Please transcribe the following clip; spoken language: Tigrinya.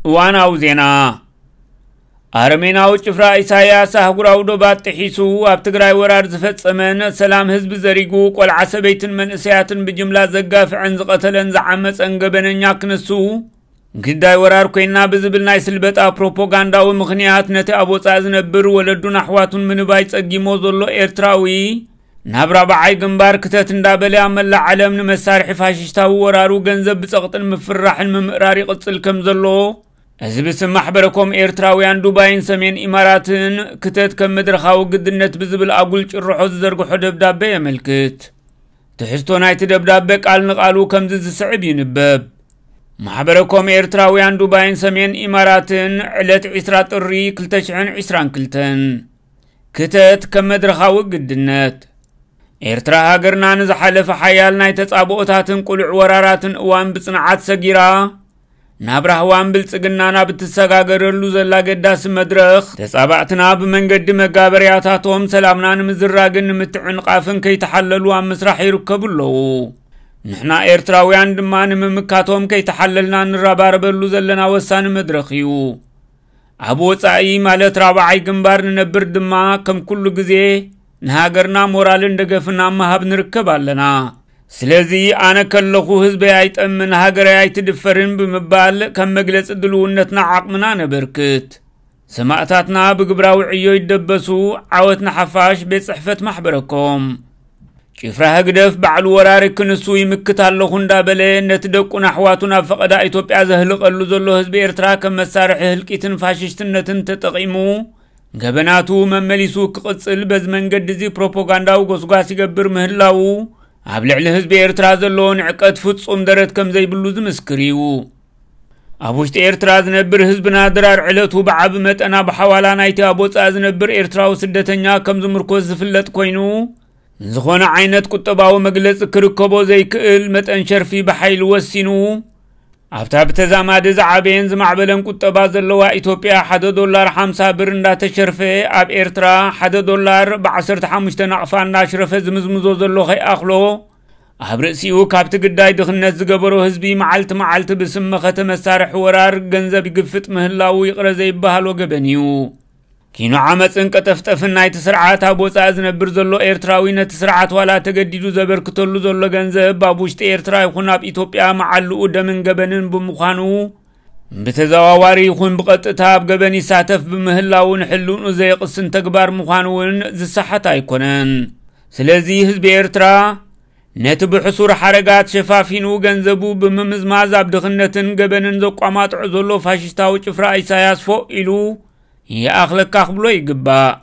እዋናዊ ዜና። ኣረሜናዊ ጭፍራ ኢሳያስ ኣህጉራዊ ዶባት ጥሒሱ ኣብ ትግራይ ወራር ዝፈጸመን ሰላም ህዝቢ ዘሪጉ ቆልዓ ሰበይትን መንእሰያትን ብጅምላ ዘጋፍዐን ዝቐተለን ዝዓመጸን ገበነኛ ክንሱ፣ ግዳይ ወራር ኮይና ብዝብል ናይ ስልበጣ ፕሮፓጋንዳዊ ምኽንያት ነቲ ኣብ ወጻኢ ዝነብር ወለዱን ኣሕዋቱን ምንባይ ጸጊሞ ዘሎ ኤርትራዊ፣ ናብ ራብዓይ ግንባር ክተት እንዳበለ ኣብ መላእ ዓለም ንመሳርሒ ፋሽስታዊ ወራሩ ገንዘብ ብጸቕጥን ምፍርራሕን ምምእራር ይቕጽል ከም ዘሎ፣ እዚ ብስም ማሕበረኮም ኤርትራውያን ዱባይን ሰሜን ኢማራትን ክተት ከም መድረኻዊ ግድነት ብዝብል ኣጉል ጭርሖ ዝዘርግሖ ደብዳቤ የመልክት። ትሕዝቶ ናይቲ ደብዳቤ ቃል ንቓሉ ከምዚ ዝስዕብ ይንበብ። ማሕበረኮም ኤርትራውያን ዱባይን ሰሜን ኢማራትን ዕለት ዕስራ ጥሪ ክልተ ሽሕን ዕስራን ክልተን። ክተት ከም መድረኻዊ ግድነት። ኤርትራ ሃገርና ንዝሓለፈ ሓያል ናይ ተጻብኦታትን ቅሉዕ ወራራትን እዋን ብጽንዓት ሰጊራ፣ ናብ ራህዋን ብልጽግናን ኣብ እትሰጋገረሉ ዘላ ኣገዳሲ መድረኽ፣ ተጻባእትና ብመንገዲ መጋበርያታቶም ሰላምና ንምዝራግን ንምትዕንቓፍን ከይተሓለሉ ኣብ ምስራሕ ይርከቡ ኣለዉ። ንሕና ኤርትራውያን ድማ ንምምካቶም ከይተሓለልና ንረባረበሉ ዘለና ወሳኒ መድረኽ እዩ። ኣብ ወጻኢ ማለት ራብዓይ ግንባር ንነብር ድማ ከም ኩሉ ግዜ ንሃገርና ሞራልን ደገፍን ኣብ ምሃብ ንርከብ ኣለና። ስለዚ ኣነ ከለኹ ህዝበይ ኣይጠምን፣ ሃገረይ ኣይትድፈርን ብምባል ከም መግለጺ ድልውነትና ዓቕምና ነበርክት። ሰማእታትና ብግብራዊ ዕዮ ይደበሱ። ዓወት ንሓፋሽ። ቤት ጽሕፈት ማሕበረኮም። ጭፍራ ህግደፍ ባዕሉ ወራሪ ክንሱ ይምክት ኣለኹ እንዳበለ ነቲ ደቁን ኣሕዋቱን ኣብ ፈቐዳ ኢትዮጵያ ዘህልቐሉ ዘሎ ህዝቢ ኤርትራ ከም መሳርሒ ህልቂትን ፋሽስትነትን ተጠቒሙ ገበናቱ መመሊሱ ክቕጽል በዚ መንገዲ እዚ ፕሮፓጋንዳዊ ጎስጓስ ይገብር ምህላዉ ኣብ ልዕሊ ህዝቢ ኤርትራ ዘለዎ ንዕቀት ፍጹም ደረት ከም ዘይብሉ ዝምስክር እዩ። ኣብ ውሽጢ ኤርትራ ዝነብር ህዝብና ድራር ዕለቱ ብዓቢ መጠን ኣብ ሓዋላ ናይቲ ኣብ ወጻኢ ዝነብር ኤርትራዊ ስደተኛ ከም ዝምርኮስ ዝፍለጥ ኮይኑ፣ ዝኾነ ዓይነት ቁጠባዊ መግለጺ ክርከቦ ዘይክእል መጠን ሸርፊ ብሓይሊ ወሲኑ፣ ኣብታ ብተዛማዲ ዝዓበየን ዝማዕበለን ቁጠባ ዘለዋ ኢትዮጵያ ሓደ ዶላር ሓምሳ ብር እንዳተሸርፈ፣ ኣብ ኤርትራ ሓደ ዶላር ብዓሰርተ ሓሙሽተ ናቕፋ እንዳሽረፈ ዝምዝምዞ ዘሎ ከይኣኽሎ፣ ኣብ ርእሲኡ ካብቲ ግዳይ ድኽነት ዝገበሮ ህዝቢ መዓልቲ መዓልቲ ብስም መኸተ መሳርሒ ወራር ገንዘብ ይግፍጥ ምህላዉ ይቕረ ዘይበሃሎ ገበን እዩ። ኪኖ ዓመጽን ቀጠፍጠፍን ናይቲ ስርዓት ኣብ ወጻኢ ዝነብር ዘሎ ኤርትራዊ ነቲ ስርዓት ዋላ ተገዲዱ ዘበርክተሉ ዘሎ ገንዘብ ኣብ ውሽጢ ኤርትራ ይኹን ኣብ ኢትዮጵያ መዓልኡ ደምን ገበንን ብምዃኑ፣ ብተዘዋዋሪ ይኹን ብቐጥታ ኣብ ገበን ይሳተፍ ብምህላዉ ንሕልንኡ ዘየቕስን ተግባር ምዃኑ እውን ዝሰሓት ኣይኮነን። ስለዚ ህዝቢ ኤርትራ ነቲ ብሕሱር ሓረጋት ሸፋፊኑ ገንዘቡ ብምምዝማዝ ኣብ ድኽነትን ገበንን ዘቋማጥዖ ዘሎ ፋሽስታዊ ጭፍራ ኢሳያስ ፎእ ኢሉ ይኣኽለካ ክብሎ ይግባእ።